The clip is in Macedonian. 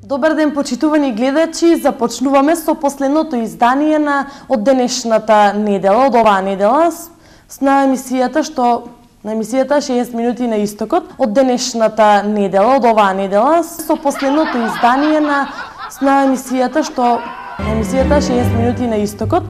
Добар ден, почитувани гледачи, започнуваме со последното издание од денешната недела, од оваа недела, на емисијата 60 минути на истокот, од денешната недела, од оваа недела, со последното издание на емисијата 60 минути на истокот.